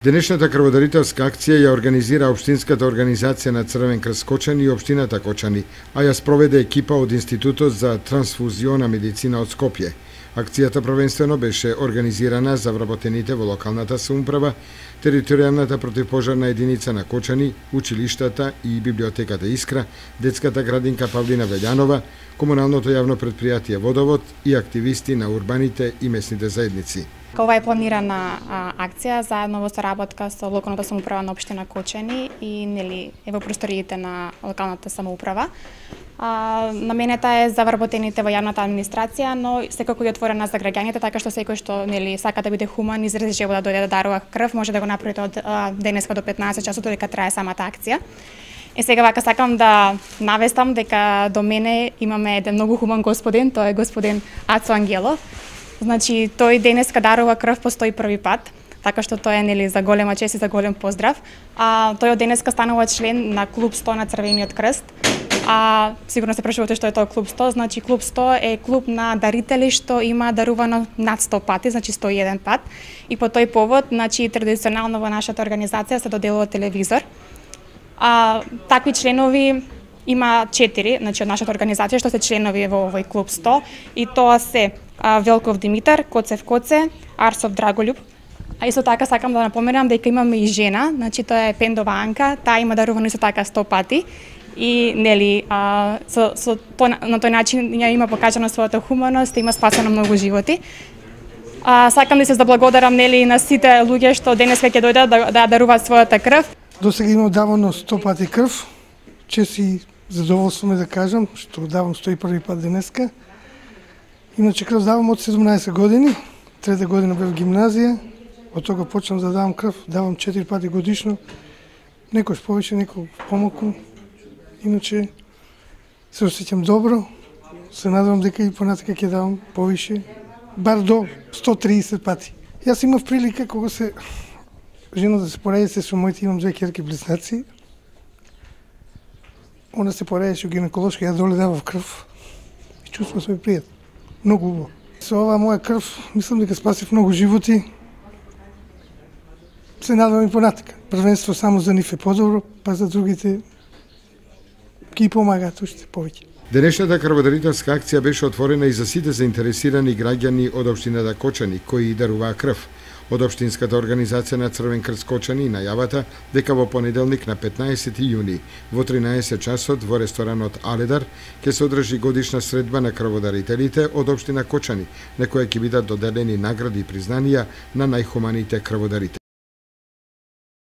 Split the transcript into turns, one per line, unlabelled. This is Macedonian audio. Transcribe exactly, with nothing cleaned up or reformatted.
Денешната крводарителска акција ја организира Општинската организација на Црвен крст Кочани и Општината Кочани, а ја спроведе екипа од Институтот за трансфузиона медицина од Скопје. Акцијата првенствено беше организирана за вработените во локалната самоуправа, територијалната противпожарна единица на Кочани, училиштата и библиотеката Искра, детската градинка Павлина Велјанова, комуналното јавно предпријатие Водовод и активисти на урбаните и местните заедници.
Ова е планирана а, акција заедно во соработка со локалната самоуправа на општина Кочани и нели е во просториите на локалната самоуправа. А, наменета е за вработените во јавната администрација, но секако и отворена за граѓаните, така што секој што нели сака да биде хуман и изрази желба да дојде да дарува крв, може да го направите од а, денеска до петнаесет часот додека трае самата акција. Е сега вака сакам да навестам дека до мене имаме еден многу хуман господин, тоа е господин Ацо Ангелов. Значи, тој денеска дарува крв по сто и први пат, така што тоа е нели за голема чест и за голем поздрав. А тој од денеска станува член на клуб сто на Црвениот крст. А сигурно се прашувате што е тоа клуб сто, значи клуб сто е клуб на дарители што има дарувано над сто пати, значи сто и еден пат. И по тој повод, значи традиционално во нашата организација се доделува телевизор. А такви членови има четири, значи од нашата организација што се членови во овој клуб сто, и тоа се а, Велков Димитар, Коцев Коце, Арсов Драголюб. А исто така сакам да напоменам дека имаме и жена, значи тоа е Пендова Анка, таа има дарувано исто така сто пати. И нели а, со, со то, на тој начин ја има покажано својата хуманост, има спасено многу животи. А, сакам да се заблагодарам нели на сите луѓе што денеска ќе дојдат да, да даруваат својата крв.
Досега имам давано сто пати крв. Чест и задоволство ме да кажам што давам сто и први пат денеска. Иначе крв давам од седумнаесет години, трета година бев гимназија, од тога почнам да давам крв, давам четири пати годишно, некојаш повеќе, некој помалку. Иначе се осеќам добро, се надевам дека и понатака ќе давам повише, бар до сто и триесет пати. Јас имав прилика кога се жена да се поради со моите, имам две ќерки близнаци. Она се поредеше гинеколошка, ја доле давав крв и чувствувам се пријатно. Многу убаво. Со оваа моја крв, мислам дека спасив многу животи. Се надевам и понатака. Првенство само за нив е подобро, па за другите ги помагаат уште повеќе.
Денешната крводарителска акција беше отворена и за сите заинтересирани граѓани од општината Кочани кои даруваа крв. Од Општинската организација на Црвен крст Кочани најавата дека во понеделник на петнаесети јуни во тринаесет часот во ресторанот Аледар ќе се одржи годишна средба на крводарителите од општина Кочани, на која ќе бидат доделени награди и признанија на најхуманите крводарители.